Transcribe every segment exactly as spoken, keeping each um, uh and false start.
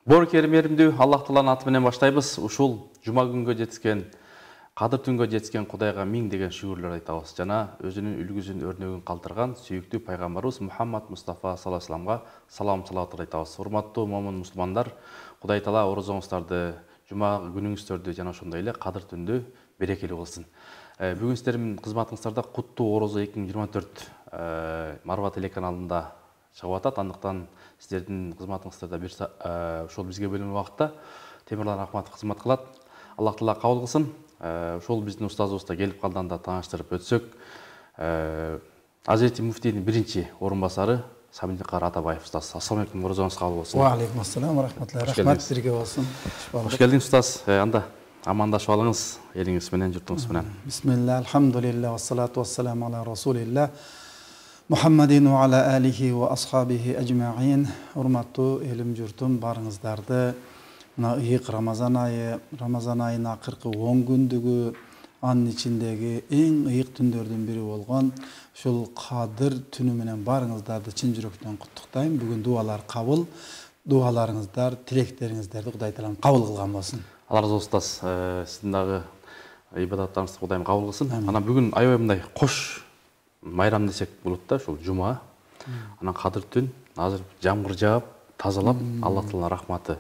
Бор керимеримдүү Аллах Тааланын аты менен баштайбыз. Ушул жума күнгө жеткен, кадыр түнгө жеткен Кудайга миң деген шүгүрлөр айтабыз. Жана өзүнүн үлгүсүн, өрнөгүн калтырган сүйүктүү пайгамбарыбыз Мухаммад Мустафа саллаллаху алейхи вассаламга салам салаваттар айтабыз. Урматтуу момун мусулмандар, Кудай Таала орозоңуздарды, жума күнүңүздөрдү жана ошондой эле кадыр түндү берекелүү кылсын. Бүгүн сиздердин кызматыңыздарда Куттуу Орозо эки миң жыйырма төрт Марва телеканалында чыгып атат. Андыктан сиздердин кызматыңыздарда бир ошол бизге бөлүнгөн убакытта Темирлан Акматов кызмат кылат. Аллах Таала кабыл кылсын. Ошол биздин устазыбыз да келип калганда тааныштырып өтсөк, Азирети муфтийдин биринчи орун басары Сабиндикар Атабаев устаз. Ассаламу алейкум, орозоңуз кабыл болсун. Ва алейкум ассалам ва рахматуллахи. Рахмат сизге болсун. Хош келдиңиз устаз. Анда амандашып алыңыз элиңиз менен, журтуңуз менен. Бисмилlah, алхамдулилlah, вассалату вассаламу ала расулилlah. Мухаммадин ва аля алихи ва асхабихи ажмаин. Урматтуу элим журтум, барыңыздарды мына ыйык Рамазан айы, Рамазан айынын акыркы он күндүгү, анын ичиндеги эң ыйык түндөрдүн бири болгон ушул Кадыр түнү менен барыңыздарды чын жүрөктөн куттуктайм. Бүгүн дуалар кабыл, дуаларыңыздар, тилектериңиздерди Кудай Таалам кабыл кылган болсун. Алла разы болсун устаз. Сиздин дагы ибадаттарыңызды Кудайым кабыл кылсын. Анан бүгүн аябай мындай кош майрам десек болот да, ушул жума. Анан Кадыр түн, азыр жамгыр жаап, тазалап, Аллах Тааланын рахматы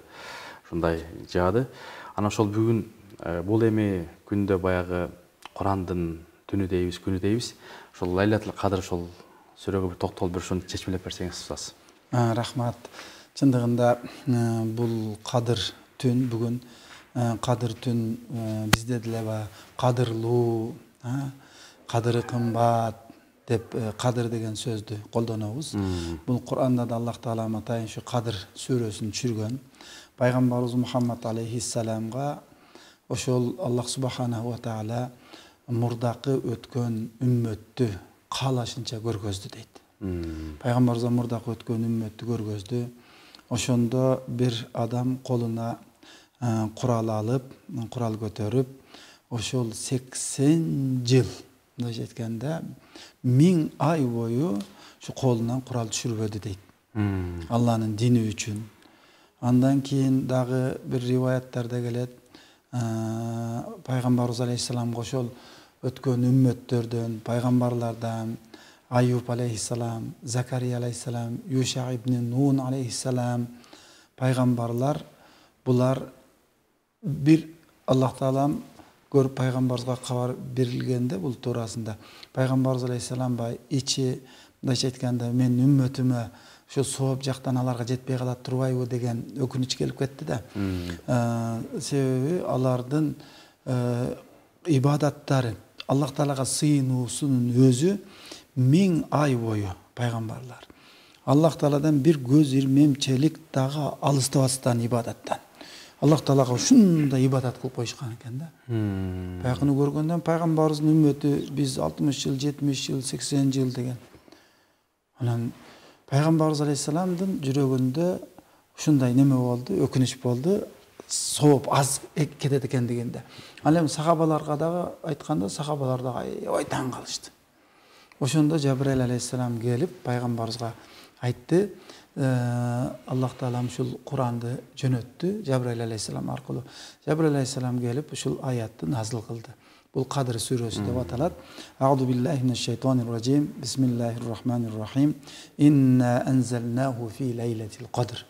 ушундай жаады. Анан ошол бүгүн бул эми күндө баягы Курандын түнү дейбиз, күнү дейбиз. Ошол Лайлатул Кадыр ошол сүрөгө бир токтолуп бир ушуну чечмелеп берсеңиз устаз. Рахмат. Чындыгында бул Кадыр түн бүгүн Кадыр түн бизде деле кадырлуу, кадыры кымбат деп кадыр деген сөздү колдонобуз. Бул Куранда да Аллах Таала атайын ушу Кадыр сүрөсүн түшүргөн. Пайгамбарыбыз Мухаммад алейхиссаламга ошол Аллах субханаху ва таала мурдакы өткөн үммөттү каалашынча көргөздү дейт. Пайгамбарыбызга мурдакы өткөн үммөттү көргөздү. Ошондо бир адам колуна курал алып, курал көтөрүп, ошол сексен жыл, мындайча айтканда, миң ай бою ушу колунан курал түшүрбөдү дейт. Алланын дини үчүн. Андан кийин дагы бир риваяттарда келет, пайгамбарыбыз алейхиссаламга ошол өткөн үммөттөрдөн, пайгамбарлардан Айюб алейхиссалам, Закария алейхиссалам, Юша ибн Нун алейхиссалам, пайгамбарлар булар бир Аллах Таалам көрүп пайгамбарыбызга кабар берилгенде бул туурасында пайгамбарыбыз алейхиссалам бай ичи, мындайча айтканда, мен үммөтүмө ошо сооп жактан аларга жетпей калат турбайбы деген өкүнүч келип кетти да. Себеби алардын ибадаттары, Аллах Таалага сыйынуусунун өзү миң ай бою пайгамбарлар Аллах Тааладан бир көз ирмемчелик дагы алыстабастан ибадаттан Аллах Таалага ушундай ибадат кылып коюшкан экен да. Баягыны көргөндөн пайгамбарыбыздын үммөтү биз алтымыш жыл, жетимиш жыл, сексен жыл деген. Анан пайгамбарыбыз алейхиссаламдын жүрөгүндө ушундай неме болду, өкүнүч болду, сооп аз кетет экен дегенде. Ал эми сахабаларга дагы айтканда, сахабалар дагы аябай таң калышты. Ошондо Жабраил алейхиссалам келип пайгамбарыбызга айтты, Аллах Таалам ушул Куранды жөнөттү Жабраил алейхиссалам аркылуу. Жабраил алейхиссалам келип ушул аятты назыл кылды. Бул Кадыр сүрөсү деп аталат. Аъуду биллахи минеш шайтанир ражим. Бисмиллахир рахманир рахим. Инна анзалнаху фи лейлатил кадр.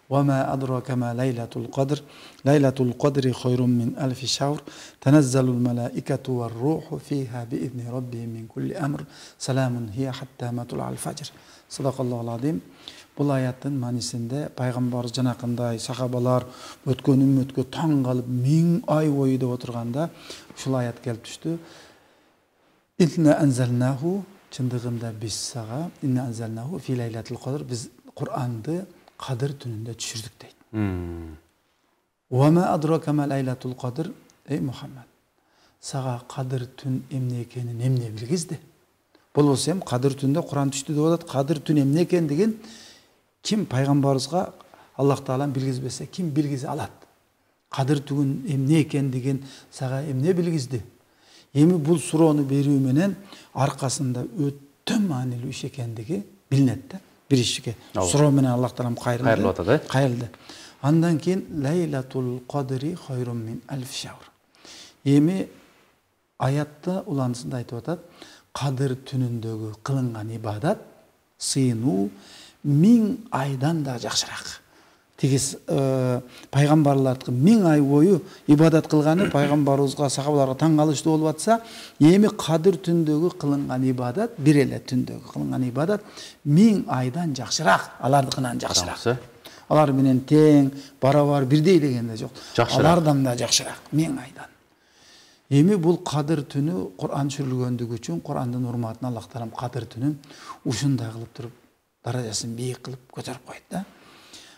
Ва ма адрака ма лейлатул кадр. Лейлатул кадри хайрун мин алфи шахр. Танаzzalul malaikatu war ruhu fiha bi idni rabbihim min kulli amr. Salamun hiya hatta matla'il fajr. Sadaqallohul azim. Бул аяттын маанисинде пайгамбарыбыз жанакындай сахабалар өткөн үммөткө таң калып миң ай бою деп отурганда ушул аят келип түштү. Инна анзалнаху, чындыгында биз сага, инна анзалнаху фи лейлатил кадр, биз Куранды Кадыр түнүндө түшүрдүк дейт. Ва ма адрака ма лейлатул кадр, эй Мухаммад, сага Кадыр түн эмне экенин эмне билгизди? Болбосо эми Кадыр түндө Куран түштү деп атат. Кадыр түн эмне экен деген ким пайгамбарыбызга Аллах Таалам билгизбесе, ким билгизе алат? Кадыр түн эмне экен деген сага эмне билгизди? Эми бул суроону берүү менен аркасында өтө маанилүү иш экендиги билинет да. Биришке суроо менен Аллах Таалам кайрылды. Кайрылып атат, э? Кайрылды. Андан кийин лейлатул кадри хайрун мин алф шахр. Эми аятта уланысында айтып атат, кадыр түнүндөгү кылынган ибадат сыйынуу миң айдан да жакшыраак. Тиги пайгамбарлардыкы миң ай бою ибадат кылганы пайгамбарыбызга, сахабаларга таң калыштуу болуп атса, эми кадыр түндөгү кылынган ибадат, бир эле түндөгү кылынган ибадат миң айдан жакшыраак, алардыкынан жакшыраак. Алар менен тең, барабар, бирдей дегенде жок. Алардан да жакшыраак, миң айдан. Эми бул кадыр түнү Кур'ан түшүрүлгөндүгү үчүн Кур'андын урматына Аллах таалам кадыр түнүн ушундай кылып туруп, даражасын бийик кылып көтөрүп койду да.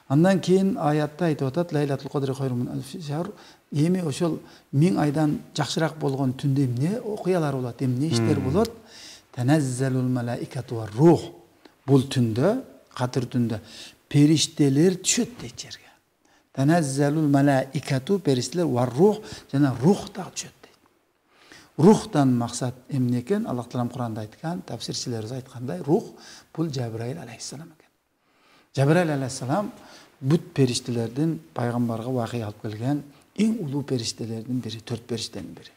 Андан кийин аятта айтып атат, лейлатул кадри хайрун мин алф шахр. Эми ошол миң айдан жакшыраак болгон түндө эмне окуялар болот, эмне иштер болот? Таназзалул малаикату ва рух. Бул түндө, кадыр түндө периштелер түшөт дейт жерге. Таназзалул малаикату, периштелер, ва рух, жана рух да түшөт дейт. Рухтан максат эмне экен? Аллах таалам Кур'анда айткан, тафсирчилер айткандай, рух бул Жабраил алейхиссалам экен. Жабраил алейхиссалам бүт периштелердин пайгамбарга вахий алып келген эң улуу периштелердин бири, төрт периштенин бири.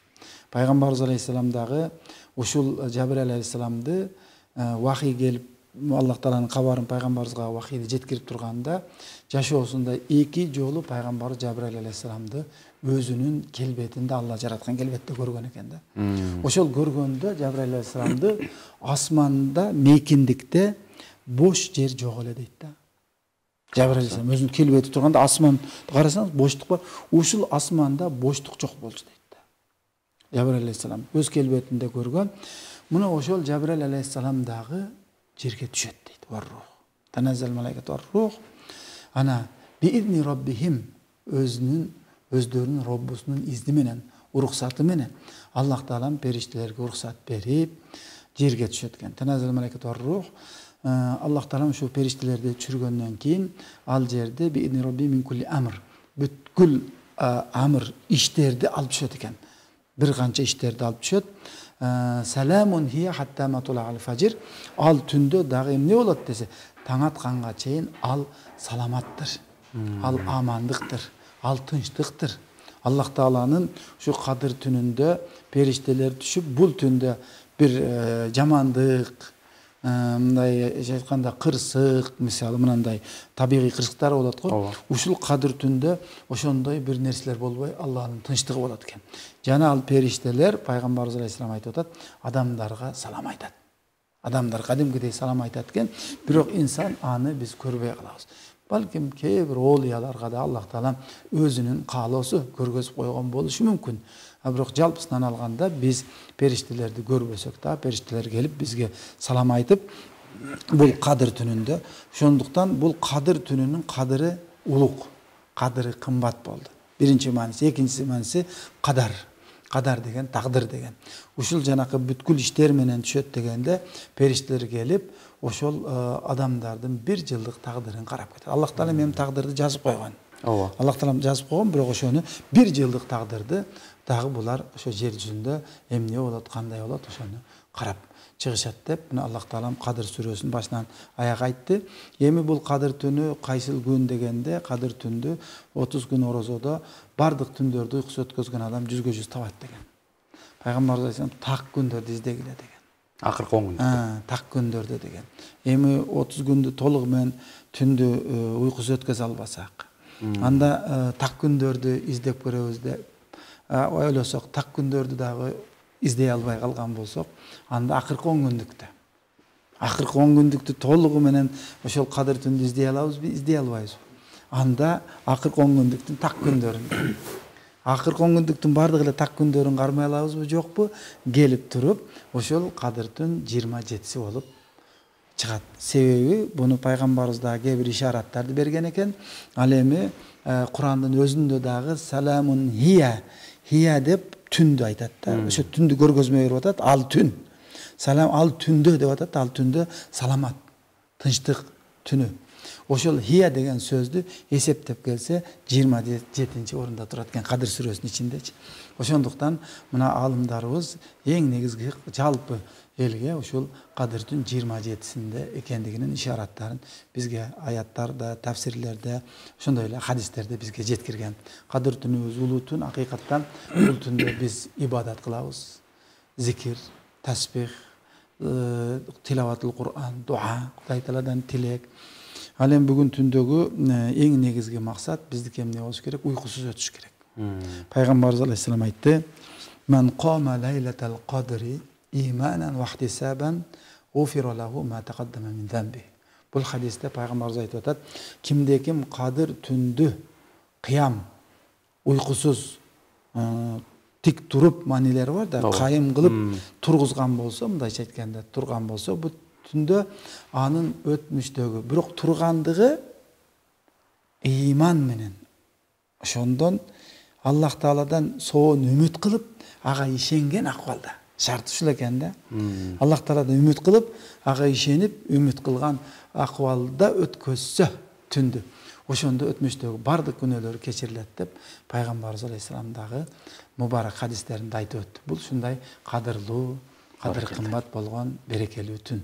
Пайгамбарыбыз алейхиссалам дагы ушул Жабраил алейхиссаламды вахий келип, Аллах тааланын кабарын пайгамбарыбызга вахийди жеткирип турганда, жашоосунда эки жолу пайгамбар Жабраил алейхиссаламды өзүнүн келбетинде, Алла жараткан келбетте көргөн экен да. Ошол көргөндө Жабраил алейхиссаламды асманда, мейкиндикте бош жер жок эле дейт да. Жабраил алейхиссалам өзүнүн келбети турганда асманды карасаңыз боштук бар. Ушул асманда боштук жок болчу дейт да. Жабраил алейхиссалам өз келбетинде көргөн. Муну ошол Жабраил алейхиссалам дагы жерге түшөт дейт. Варрух. Таназзал малаикату варрух. Ана биизни раббихим, өзүнүн өздөрүнүн Роббусунун изни менен, уруксаты менен Аллах таалам периштелерге уруксат берип жерге түшөт экен. Таназзал малаикату варрух. Аллах таалам ушул периштелерди түшүргөндөн кийин ал жерде биизни рабби мин кулли амр, бүткүл амр иштерди алып түшөт экен. Бир канча иштерди алып түшөт. Саламун хия хатта матула аль-фажр. Ал түндө дагы эмне болот десе, таң атканга чейин ал саламаттыр. Ал амандыктыр, ал тынчтыктыр. Аллах тааланын ушу кадыр түнүндө периштелер түшүп, бул түндө бир жамандык, мындай айтканда кырсык, мисалы мындай табигый кырсыктар болот го. Ушул кадыр түндө ошондой бир нерселер болбой, Аллахтын тынчтыгы болот экен. Жана ал периштелер пайгамбарыбыз алейхиссалам айтып атат, адамдарга салам айтат. Адамдар кадимкидей салам айтат экен, бирок инсан аны биз көрбөй калабыз. Балким кээ бир оолияларга да Аллах таалам өзүнүн каалоосу көргөзүп койгон болушу мүмкүн. А бирок жалпысынан алганда биз периштелерди көрбөсөк да, периштелер келип бизге салам айтып, бул кадыр түнүндө. Ошондуктан бул кадыр түнүнүн кадыры улук, кадыры кымбат болду. Биринчи мааниси, экинчи мааниси кадар. Кадар деген тагдыр деген. Ушул жанакы бүткүл иштер менен түшөт дегенде периштелер келип, ошол адамдардын бир жылдык тагдырын карап кетет. Аллах таалам эми тагдырды жазып койгон. Ооба. Аллах таалам жазып койгон, бирок ошону бир жылдык тагдырды дагы булар ошо жер жүзүндө эмне болот, кандай болот, ошону карап чыгышат деп, мына Аллах таалам Кадыр сүрөсүнүн башынан аяк айтты. Эми бул Кадыр түнү кайсыл күн дегенде, Кадыр түндү отуз күн орозодо бардык түндөрдү уйкусу өткөзгөн адам жүзгө жүз табат деген. Пайгамбарыбыз айтсан, так күндөрдү издегиле деген. Акыркы он күндө. Так күндөрдү деген. Эми отуз күндү толугу менен түндү уйкусу өткөзө албасак, анда так күндөрдү издеп көрөбүз деп ойлосок, так күндөрдү дагы издей албай калган болсок, анда акыркы он күндүктө. Акыркы он күндүктү толугу менен ошол Кадыр түндү издей алабызбы, издей албайбызбы? Анда акыркы он күндүктүн так күндөрүн. Акыркы он күндүктүн бардыгы эле так күндөрүн кармай алабызбы, жокпу? Келип туруп, ошол Кадыр түн жыйырма жетиси болуп чыгат. Себеби буну пайгамбарыбыз дагы кээ бир ишараттарды берген экен. Ал эми Курандын өзүндө дагы саламун хия, хия деп түндү айтат да. Ошо түндү көргөзмө берип атат, ал түн. Салам ал түндө деп атат, ал түндө саламат, тынчтык түнү. Ошол хия деген сөздү эсептеп келсе жыйырма жетинчи орунда турат экен Кадыр сүрөсүнүн ичиндечи. Ошондуктан мына аалымдарыбыз эң негизги жалпы элге ушул Кадырдын жыйырма жетисинде экендигинин ишараттарын бизге аяттарда, тафсирлерде, ошондой эле хадистерде бизге жеткирген. Кадыр түнүбүз улуу түн, акыйкаттан бул түндө биз ибадат кылабыз. Зикир, тасбих, тилаватул Кур'ан, дуа, Кудай Тааладан тилек. Ал эми бүгүн түндөгү эң негизги максат биздики эмне болуш керек? Уйкусуз өтүш керек. Пайгамбарыбыз алейхиссалам айтты: "Ман қама лайлатал қадри иманан ва ихтисабан гуфира лаху ма тaqaddama min замби." Бул хадисте пайгамбарыбыз айтып атат: кимде ким Кадыр түндү кыям, уйкусуз, тик туруп, манилери бар да, кайым кылып тургузган болсо, мындайча айтканда турган болсо, бул түндө анын өтмүштөгү, бирок тургандыгы иман менен, ошондон Аллах Тааладан соон үмүт кылып, ага ишенген акыбалда. Шарт ушул экен да. Аллах Тааладан үмүт кылып, ага ишенип, үмүт кылган акыбалда өткөзсө түндү, ошондо өтмүштөгү бардык күнөөлөрү кечирилет деп пайгамбарыбыз алейхиссалам дагы мубарак хадистеринде айтып өттү. Бул ушундай кадырлуу, кадыр кымбат болгон берекелүү түн.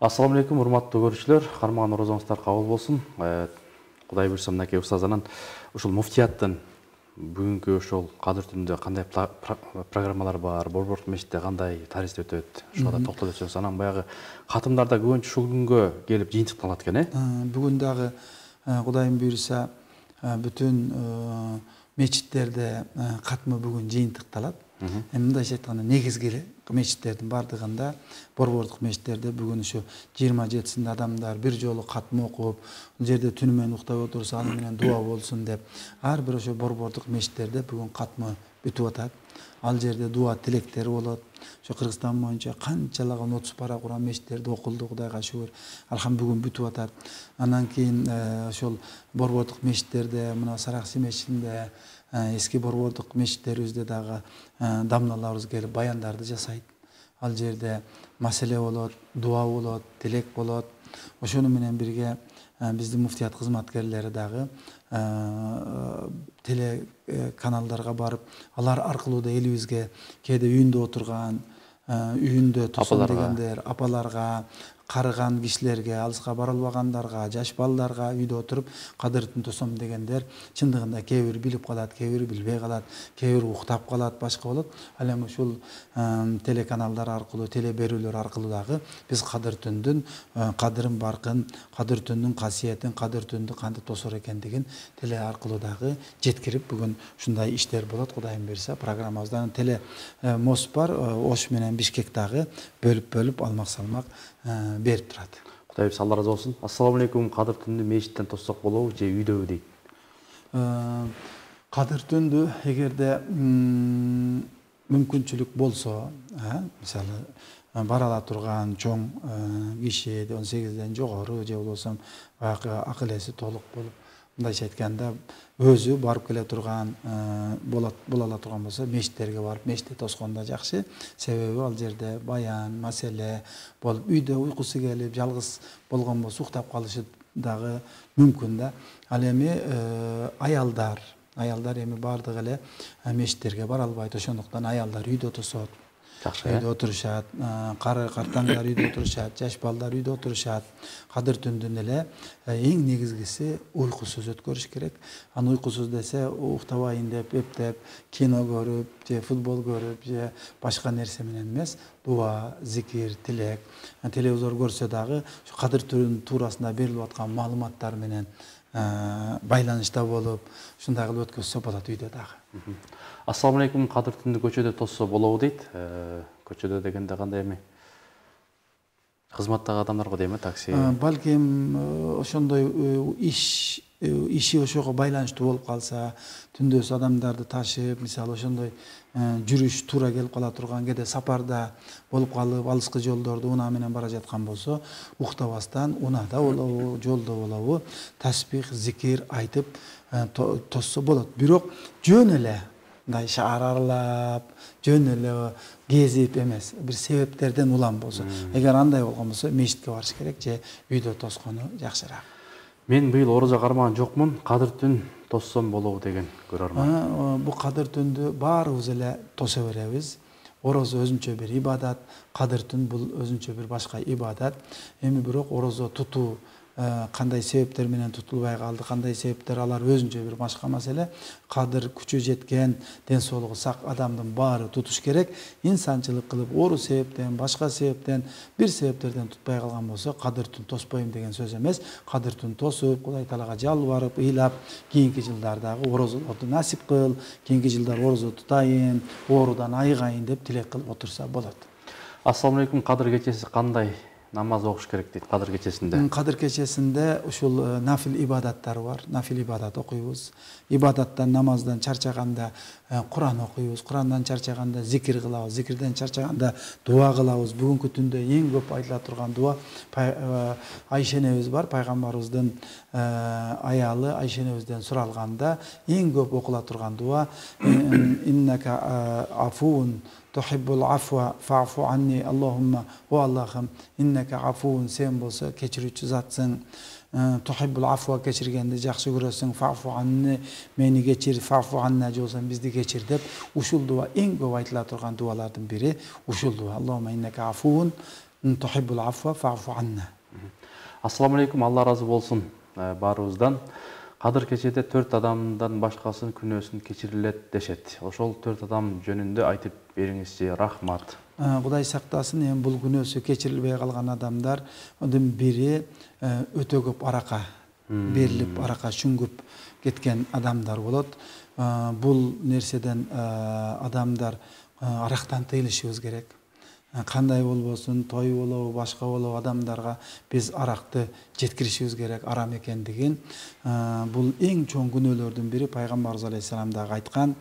Ассаламу алейкум, урматтуу көрүүчүлөр. Кармаган орозоңуздар кабыл болсун. Кудай буйрса, мынакей устазанан ушул муфтияттын бүгүнкү ошол Кадыр түнүндө кандай программалар бар, Борбордук мечитте кандай тарис өтөт, ошого да токтолуп өтсөңүз. Анан баягы катымдарда көбүнчө ушул күнгө келип жыйынтыкталат экен, э? Бүгүн дагы Кудайым буйрса бүтүн мечиттерде катмы бүгүн жыйынтыкталат. Эми мындайча айтканда негизги мечиттердин бардыгында, борбордук мечиттерде бүгүн ушу жыйырма жетисинде адамдар бир жолу катмы окуп, бул жерде түнү менен уктап отурса аны менен дуа болсун деп, ар бир ошо борбордук мечиттерде бүгүн катмы бүтүп атат. Ал жерде дуа тилектери болот. Ошо Кыргызстан боюнча канчалаган отуз пара Куран мечиттерде окулду, Кудайга шүгүр. Алхам бүгүн бүтүп атат. Андан кийин ошол борбордук мечиттерде, мына Сараксы мечитинде, эски борбордук мечиттерибизде дагы дамналарыбыз келип баяндарды жасайт. Ал жерде маселе болот, дуа болот, тилек болот. Ошону менен бирге биздин муфтият кызматкерлери дагы телеканалдарга барып, алар аркылуу да элибизге кээде үйүндө отурган, үйүндө тосом дегендер, апаларга, карыган кишилерге, алыска бара албагандарга, жаш балдарга үйдө отуруп Кадыр түн тосом дегендер чындыгында кээ бир билип калат, кээ бир билбей калат, кээ бир уктап калат, башка болот. Ал эми ушул телеканалдар аркылуу, теле берүүлөр аркылуу дагы биз Кадыр түндүн кадырын баркын, Кадыр түндүн касиетин, Кадыр түндү кантип тосор экендигин теле аркылуу дагы жеткирип, бүгүн ушундай иштер болот. Кудайым буйрса, программабыздан теле мост бар, Ош менен Бишкек дагы бөлүп-бөлүп алмак-салмак берип турат. Кудай буйрса, Алла разы болсун. Ассаламу алейкум, Кадыр түндү мечиттен тоссок болобу же үйдөбү дейт? Кадыр түндү эгерде мүмкүнчүлүк болсо, мисалы бара ала турган чоң киши, он сегизден жогору же болбосо акыл эси толук болуп, мындайча айтканда өзү барып келе турган болот, боло ала турган болсо, мечиттерге барып мечитте тоскон да жакшы. Себеби ал жерде баян, маселе болуп, үйдө уйкусу келип, жалгыз болгон болсо уктап калышы дагы мүмкүн да. Ал эми аялдар, аялдар эми бардык эле мечиттерге бара албайт, ошондуктан аялдар үйдө тосот. Үйдө отурушат, кары картаңдар үйдө отурушат, жаш балдар үйдө отурушат. Кадыр түндүн эле эң негизгиси уйкусуз өткөрүш керек. Аны уйкусуз десе, уктабайын деп, эптеп, кино көрүп, же футбол көрүп, же башка нерсе менен эмес, дуа, зикир, тилек. Телевизор көрсө дагы Кадыр түнүнүн туурасында берилип аткан маалыматтар менен байланышта болуп, ушундай кылып өткөзсө болот үйдө дагы. Ассаламу алейкум, Кадыр түндү көчөдө тоссо болобу дейт. Көчөдө дегенде кандай эми? Кызматтагы адамдарга дейм, такси. Балким ошондой иш иши ошого байланыштуу болуп калса, түндөс адамдарды ташып, мисалы ошондой жүрүш туура келип кала турган, кээде сапарда болуп калып, алыскы жолдорду унаа менен бара жаткан болсо, уктабастан унаада болобу, жолдо болобу, тасбих, зикир айтып тоссо болот. Бирок жөн эле мындай шаар аралап жөн эле кезип эмес, бир себептерден улам болсо, эгер андай болгон болсо мечитке барыш керек же үйдө тоскону жакшыраак. Мен быйыл орозо кармаган жокмун, кадыр түн тоссом болобу деген көрөрмөн. Бу кадыр түндү баарыбыз эле тоса беребиз. Орозо өзүнчө бир ибадат, кадыр түн бул өзүнчө бир башка ибадат. Эми бирок орозо тутуу кандай себептер менен тутулбай калды, кандай себептер, алар өзүнчө бир башка маселе. Кадыр күчү жеткен, ден соолугу сак адамдын баары тутуш керек. Инсанчылык кылып ору себептен, башка себептен, бир себептерден тутпай калган болсо, кадыр түн тоспойм деген сөз эмес. Кадыр түн тосуп, Кудай Таалага жалбарып, ыйлап, кийинки жылдардагы орозолорду насип кыл, кийинки жылдар орозо тутайын, оорудан айыгайын деп тилек кылып отурса болот. Ассаламу алейкум, кадыр кечеси кандай намаз окуш керек дейт кадыр кечесинде? Кадыр кечесинде ушул нафил ибадаттар бар. Нафил ибадат окуйбуз. Ибадаттан, намаздан чарчаганда Куран окуйбуз. Курандан чарчаганда зикир кылабыз. Зикирден чарчаганда дуа кылабыз. Бүгүнкү түндө эң көп айтыла турган дуа Айша энебиз бар, пайгамбарыбыздын аялы Айша энебизден суралганда эң көп окула турган дуа иннака афуун тухиббул афва фаъфу анни Аллахумма о Аллахым иннака афуун сен болсо кечирүүчү затсың, тухиббул афва кечиргенди жакшы көрөсүң, фаъфу анни мени кечир, фаъфу анна жолсоң бизди кечир деп ушул дуа эң көп айтыла турган дуалардын бири ушул дуа. Аллахумма иннака афуун тухиббул афва фаъфу анна. Ассаламу алейкум, Алла разы болсун баарыбыздан. Кадыр кечеде төрт адамдан башкасынын күнөөсүн кечирилет дешет. Ошол төрт адам жөнүндө айтып бериңизчи, рахмат. Кудай сактасын, эми бул күнөөсү кечирилбей калган адамдардын бири өтө көп арака берилип, арака шүңгүп кеткен адамдар болот. Бул нерседен адамдар арактан тыйылышыбыз керек. Кандай болбосун, той болобу, башка болобу адамдарга биз аракты жеткиришибиз керек, арам экендигин. Бул эң чоң күнөөлөрдүн бири. Пайгамбарыбыз алейхисалам дагы айткан.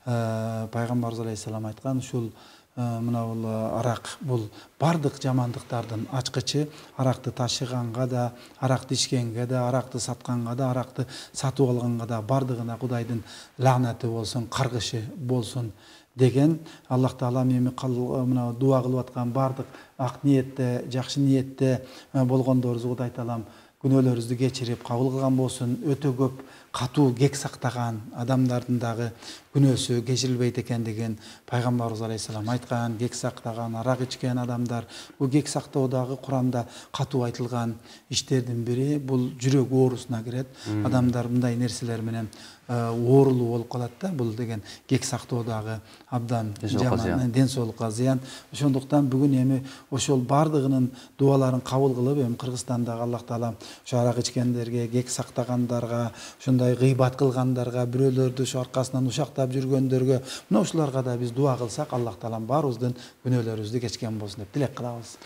Пайгамбарыбыз алейхисалам айткан, ушул мына бул арак бул бардык жамандыктардын ачкычы. Аракты ташыганга да, аракты ичкенге да, аракты сатканга да, аракты сатып алганга да бардыгына Кудайдын лаанаты болсун, каргышы болсун деген. Аллах Таала мени мына дуа кылып аткан бардык ак ниетте, жакшы ниетте болгондорубузду Кудай Таалам күнөөлөрүбүздү кечирип кабыл кылган болсун. Өтө көп катуу кек сактаган адамдардын дагы күнөөсү кечирилбейт экендигин Пайгамбарыбыз алейхисалам айткан. Кек сактаган, арак ичкен адамдар, бул кек сактоодагы Куранда катуу айтылган иштердин бири. Бул жүрөк оорусуна кирет. Адамдар мындай нерселер менен оорулуу болуп калат да. Бул деген кек сактоодагы абдан жаман, ден соолукка зыян. Ошондуктан бүгүн эми ошол бардыгынын дуаларын кабыл кылып, эми Кыргызстандагы Аллах Таала ошо арак ичкендерге, кек сактагандарга, ошондой гыйбат кылгандарга, бирөөлөрдү ошо аркасынан ушактап жүргөндөргө, мына ушуларга да биз дуа кылсак, Аллах Таалам баарыбыздын күнөөлөрүбүздү кечкен болсун деп тилек кылабыз.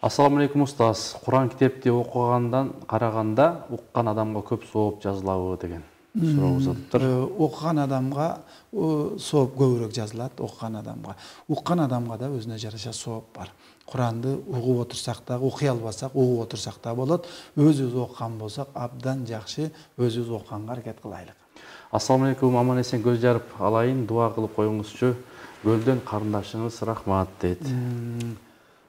Ассаламу алейкум устаз. Куран китепти окугандан караганда уккан адамга көп сооп жазылабы деген суроо узатыптыр. Окуган адамга сооп көбүрөөк жазылат, окуган адамга. Уккан адамга да өзүнө жараша сооп бар. Куранды угуп отурсак да, окуй албасак, угуп отурсак да болот. Өзүбүз окуган болсок абдан жакшы, өзүбүз окуганга аракет кылайлык. Ассаламу алейкум, аман эсен көз жарып алайын, дуа кылып коюңузчу. Көлдөн карындашыңыз рахмат дейт.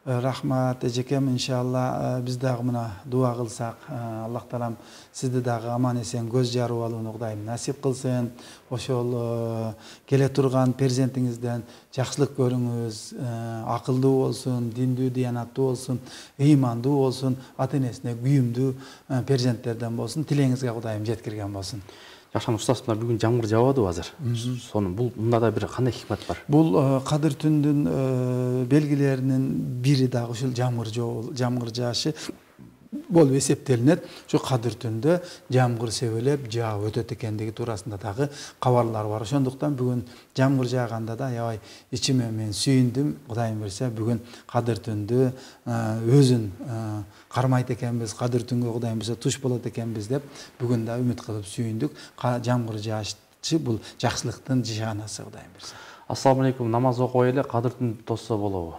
Рахмат эжекем, иншалла биз дагы мына дуа кылсак, Аллах Таалам сизди дагы аман эсен көз жарып алууну Кудайым насип кылсын. Ошол келе турган перзентиңизден жакшылык көрүңүз, акылдуу болсун, диндүү, диянаттуу болсун, ыймандуу болсун, ата энесине күйүмдүү перзенттерден болсун. Тилеңизге Кудайым жеткирген болсун. Жакшан устаз, мына бүгүн жамгыр жаабадыбы азыр? Сонун бул мында да бир кандай хикмет бар? Бул кадыр түндүн белгилеринин бири дагы ушул жамгыр жоо, жамгыр жаашы болуп эсептелинет. Ошо кадыр түндө жамгыр себелеп жаап өтөт экендиги туурасында дагы кабарлар бар. Ошондуктан бүгүн жамгыр жааганда да аябай ичиме мен сүйүндүм. Кудайым берсе бүгүн кадыр түндү өзүн кармайт экенбиз, кадыр түнгө Кудайым берсе туш болот экенбиз деп бүгүн да үмүт кылып сүйүндүк. Жамгыр жаашчы бул жакшылыктын жишанасы Кудайым берсе. Ассаламу алейкум, намаз окуй эле кадыр түн тосса болобу?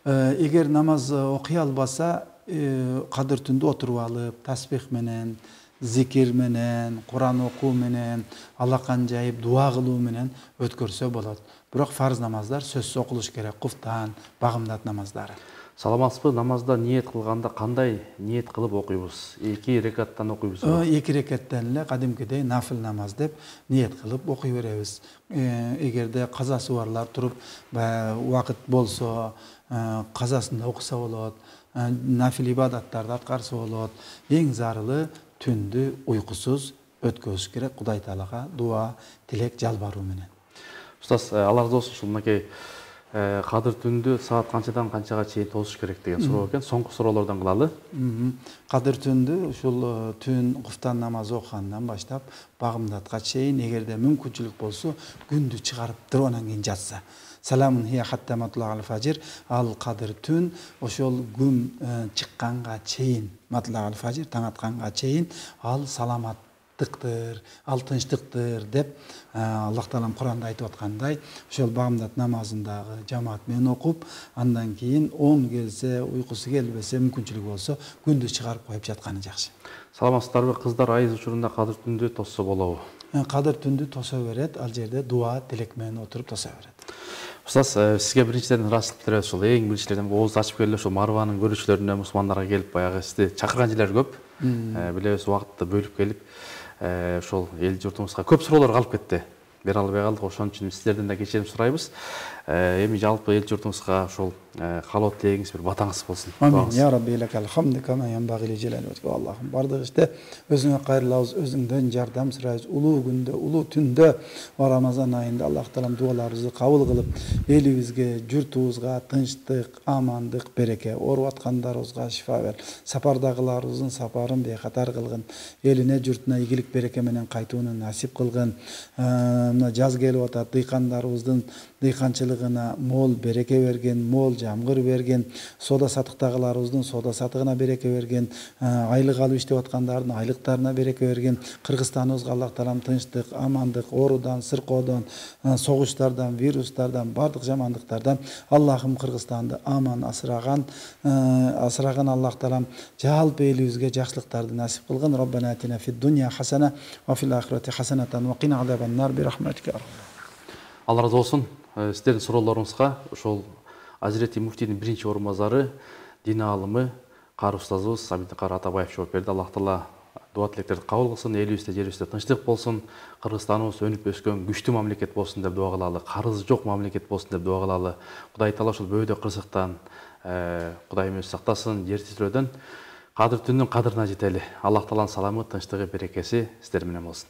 Эгер намаз окуй албаса, кадыр түндү отуруп алып, тасбих менен зикир менен, Куран окуу менен, алакан жайып дуа кылуу менен өткөрсө болот. Бирок фарз намаздар сөзсүз окулуш керек, куфтан, багымдат намаздары. Саламатсызбы, намазда ниет кылганда кандай ниет кылып окуйбуз? эки рекаттан окуйбузбу? эки рекаттан эле кадимкидей нафил намаз деп ниет кылып окуй беребиз. Эгерде казасы барлар туруп убакыт болсо, казасында окуса болот, нафил ибадаттарды аткарса болот. Эң зарылы түндү уйкусуз өткөрүш керек, Кудай Таалага дуа, тилек, жалбаруу менен. Устаз, алла разы болсун, ушул мынакей кадыр түндү саат канчадан канчага чейин тосуш керек деген суроо экен. Соңку суроолордон кылалы. Кадыр түндү ушул түн куфтан намазы окугандан баштап багымдатка чейин, эгерде мүмкүнчүлүк болсо, күндү чыгарып туруп анан кийин жатса. Саламун хия хатта матлаал фажир, ал кадыр түн ошол күн чыкканга чейин, матлаал фажир таң атканга чейин ал саламаттыктыр, ал тынчтыктыр деп Аллах Таалам Куранда айтып аткандай, ошол багымдат намазындагы жамаат менен окуп, андан кийин он келсе, уйкусу келбесе, мүмкүнчүлүк болсо, күндү чыгарып коюп жатканы жакшы. Саламатсыздарбы, кыздар айыз учурунда кадыр түндү тосса болобу? Кадыр түндү тоса берет, ал жерде дуа, тилек менен отуруп тоса берет. Устаз, сизге биринчиден ыраазычылык билдиребиз. Ушул эң биринчиден ооз ачып келип ошол Марванын көрүүчүлөрүнө, мусулмандарга келип баягы сизди чакырган жерлер көп. Билебиз, убакытты бөлүп келип, ошол эл журтубузга көп суроолор калып кетти. Бере албай калдык, ошон үчүн сиздерден да кечирим сурайбыз. Эми жалпы эл журтубузга ошол каалоо тилегиңиз, бир батаңыз болсун. Амин. Я Рабби лакал хамду кама янбагы ли жалали ваджхи. Аллахым, бардык иште өзүңө кайрылабыз, өзүңдөн жардам сурайбыз. Улуу күндө, улуу түндө, Рамазан айында Аллах Таалам дуаларыбызды кабыл кылып, элибизге, журтубузга тынчтык, амандык, береке, ооруп аткандарыбызга шифа бер. Сапардагыларыбыздын сапарын бейкатар кылгын. Элине, журтуна ийгилик, береке менен кайтууну насип кылгын. Мына жаз келип атат, дыйкандарыбыздын дыйканчылыгына мол береке берген, мол жамгыр берген, соода сатыктагыларыбыздын соода сатыгына береке берген, айлык алып иштеп аткандардын айлыктарына береке берген. Кыргызстаныбызга Аллах Таалам тынчтык, амандык, оорудан, сыркоодон, согуштардан, вирустардан, бардык жамандыктардан Аллахым Кыргызстанды аман асыраган, асыраган Аллах Таалам жалпы элибизге жакшылыктарды насип кылгын. Роббана атина фид дунья хасана ва фил ахирати хасанатан ва кина азабан нар би рахматика. Алла разы болсун. Сиздердин суроолоруңузга ошол Азирети муфтийдин биринчи орун базары, дин аалымы, кары устазыбыз Абидикар Атабаев жооп берди. Аллах Таала дуа тилектерди кабыл кылсын, элибизде, жерибизде тынчтык болсун, Кыргызстаныбыз өнүп өскөн күчтүү мамлекет болсун деп дуа кылалы, карызы жок мамлекет болсун деп дуа кылалы. Кудай Таала ошол бөөдө кырсыктан Кудайым өзү сактасын, жер титирөөдөн кадыр түндүн кадырына жетели. Аллах Тааланын саламы, тынчтыгы, берекеси сиздер менен болсун.